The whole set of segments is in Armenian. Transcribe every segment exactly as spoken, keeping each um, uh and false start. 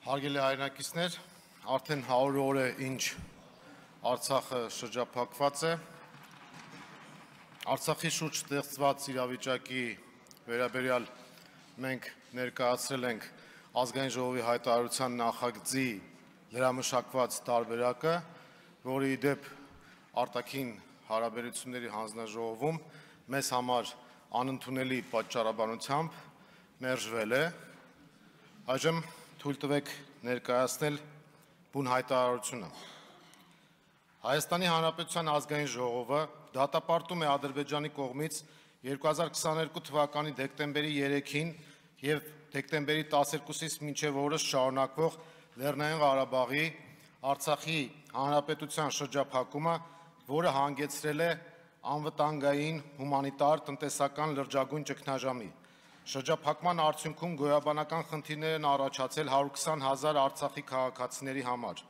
Հարգելի հայրենակիցներ, արդեն հարյուր օր է ինչ Արցախը շրջափակված է։ Արցախի շուրջ ստեղծված իրավիճակի վերաբերյալ մենք ներկայացրել ենք ազգային ժողովի հայտարարության նախագծի լրամշակված տարբերակը, որի ի դեպ արտաքին հարաբերությունների հանձնաժողովում մեզ համար անընդունելի պատճառաբանությամբ մերժվել է։ Այժմ թույլ տվեք ներկայացնել բուն հայտարարությունը։ Հայաստանի Հանրապետության ազգային ժողովը դատապարտում է Ադրբեջանի կողմից երկու հազար քսաներկու թվականի դեկտեմբերի երեքին եւ դեկտեմբերի տասներկուսից մինչեւ օրս շարունակվող Լեռնային Ղարաբաղի Արցախի Հանրապետության շրջափակումը, որը հանգեցրել է անվտանգային, հումանիտար, տնտեսական լրջագույն ճգնաժամի։ Շրջափակման արդյունքում գոյաբանական խնդիրներ են առաջացել հարյուր քսան հազար Արցախի քաղաքացիների համար։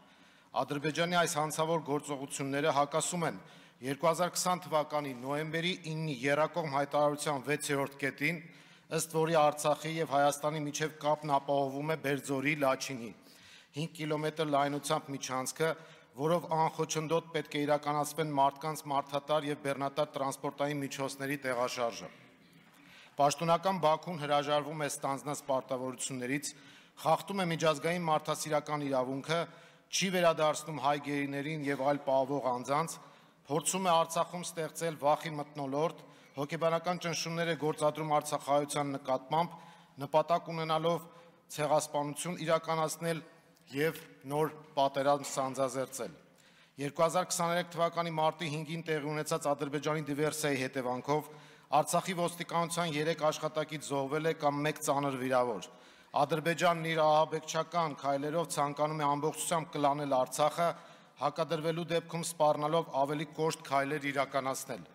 Ադրբեջանի այս հանցավոր գործողությունները հակասում են երկու հազար քսան թվականի նոյեմբերի ինը եռակողմ հայտարարության վեցերորդ կետին, ըստ որի Արցախի եւ Հայաստանի միջև կապն ապահովում է Բերձորի Լաչինի հինգ կիլոմետր լայնությամբ միջանցքը, որով անխոչնդոտ պետք է իրականացվեն մարդկանց մարդատար եւ բեռնատար տրանսպորտային միջոցների տեղաշարժը։ Պաշտոնական Բաքուն հրաժարվում է ստանձնած պարտավորություններից, խախտում է միջազգային մարդասիրական իրավունքը, չի վերադարձնում հայ գերիներին եւ այլ պահվող անձանց, փորձում է Արցախում ստեղծել վախի մթնոլորտ, հոգեբանական ճնշումներ է գործադրում արցախայության նկատմամբ, նպատակ ունենալով ցեղասպանություն իրականացնել եւ նոր պատերազմ սանձազերծել։ երկու հազար քսաներեք թվականի մարտի հինգին տեղի ունեցած Ադրբեջանի դիվերսիայի հետևանքով Արցախի ոստիկանության երեք աշխատակից զոհվել է կամ մեկ ծանր վիրավոր։ Ադրբեջանն իր ահաբեկչական քայլերով ցանկանում է ամբողջությամբ կլանել Արցախը, հակադրվելու դեպքում սպառնալով ավելի կոշտ քայլեր իրականացնել։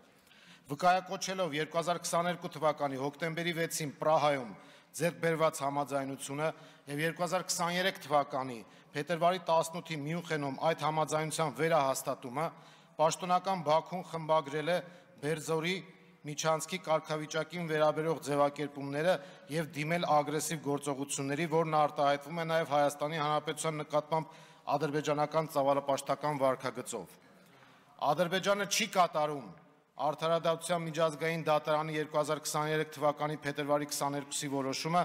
Վկայակոչելով երկու հազար քսաներկու թվականի հոկտեմբերի վեցին Պրահայում ձեռք բերված համաձայնությունը եւ երկու հազար քսաներեք թվականի փետրվարի տասնութի Մյունխենում այդ համաձայնության վերահաստատումը, պաշտոնական Բաքուն խմբագրել է Բերձորի միջանցքի կարգավիճակին վերաբերող ձևակերպումները եւ դիմել ագրեսիվ գործողությունների, որն արտահայտվում է նաեւ Հայաստանի Հանրապետության նկատմամբ ադրբեջանական ծավալապաշտական վարքագծով։ Ադրբեջանը չի կատարում Արդարադատության միջազգային դատարանի երկու հազար քսաներեք թվականի փետրվարի քսաներկուսի որոշումը,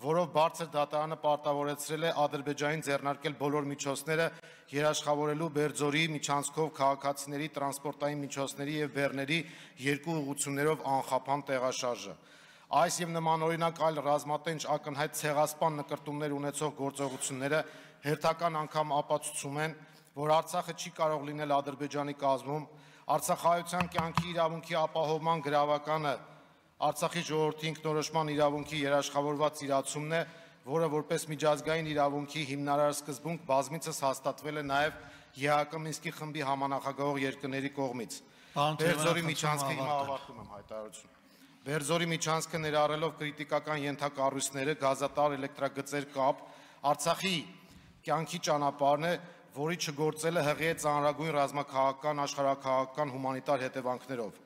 որով բարձր դատարանը պարտավորեցրել է Ադրբեջանին ձեռնարկել բոլոր միջոցները երաշխավորելու Բերձորի միջանցքով քաղաքացիների տրանսպորտային միջոցների եւ բեռների երկու ուղղություններով անխափան տեղաշարժը։ Այս եւ նմանօրինակ այլ ռազմատենչ ակնհայտ ցեղասպան նկրտումներ ունեցող գործողությունները հերթական անգամ ապացուցում են, որ Արցախը չի կարող լինել Ադրբեջանի կազմում, Արցախայության կյանքի իրավունքի ապահովման գրավականը Արցախի ժողովրդի ինքնորոշման իրավունքի երաշխավորված իրացումն է, որը որպես միջազգային իրավունքի հիմնարար սկզբունք բազմիցս հաստատվել է նաև ԵԱՀԿ Մինսկի խմբի համանախագահող երկրների կողմից։ Բերձորի միջանցքը հիմա ավարտում եմ հայտարարությունը։ Բերձորի միջանցքը ներառելով կրիտիկական ենթակառույցները, գազատար էլեկտրագծեր կապ, Արցախի կյանքի ճանապարհն է, որի չգործելը հղի է ծանրագույն ռազմաքաղաքական, աշխարհաքաղաքական, հումանիտար հետևանքներով։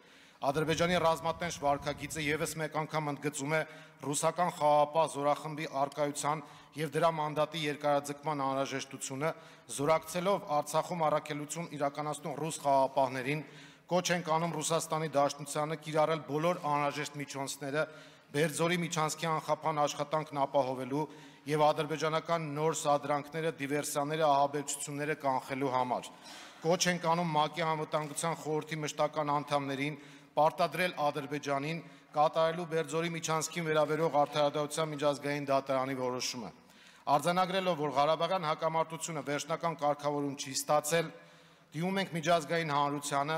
Ադրբեջանի ռազմատենչ վարքագիծը եւս մեկ անգամ ընդգծում է ռուսական խաղաղապահ զորախմբի առկայության եւ դրա մանդատի երկարաձգման անհրաժեշտությունը, զորակցելով Արցախում առաքելություն իրականացնող ռուս խաղաղապահներին, կոչ ենք անում Ռուսաստանի Դաշնությանը կիրառել բոլոր անհրաժեշտ միջոցները Բերձորի միջանցքի անխափան աշխատանքն ապահովելու եւ ադրբեջանական նոր սադրանքները, դիվերսիաները, ահաբեկչությունները կանխելու համար։ Կոչ ենք անում ՄԱԿ-ի անվտանգության խորհրդի մշտական անդամներին պարտադրել Ադրբեջանին կատարելու Բերձորի միջանցքին վերաբերող Արդարադատության միջազգային դատարանի որոշումը։ Արձանագրելով, որ Ղարաբաղյան հակամարտությունը վերջնական կարգավորում չի ստացել, դիմում ենք միջազգային հանրությանը,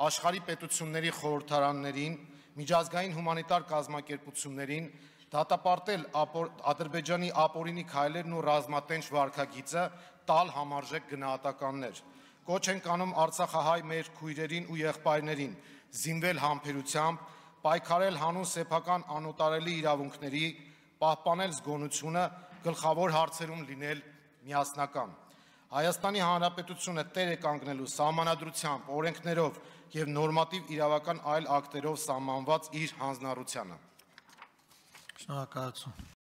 աշխարհի պետությունների խորհրդարաններին, միջազգային հումանիտար կազմակերպություններին դատապարտել Ադրբեջանի ապօրինի քայլերն ու ռազմատենչ վարքագիծը, տալ համարժեք գնահատականներ։ Կոչ ենք անում արցախահայ մեր քույրերին ու եղբայրներին զինվել համբերությամբ, պայքարել հանուն սեփական անօտարելի իրավունքների, պահպանել զգոնությունը, գլխավոր հարցերում լինել միասնական։ Հայաստանի Հանրապետությունը տեր է կանգնելու սահմանադրությամբ, օրենքներով եւ նորմատիվ իրավական այլ ակտերով սահմանված իր հանձնառությանը։ Շնորհակալություն։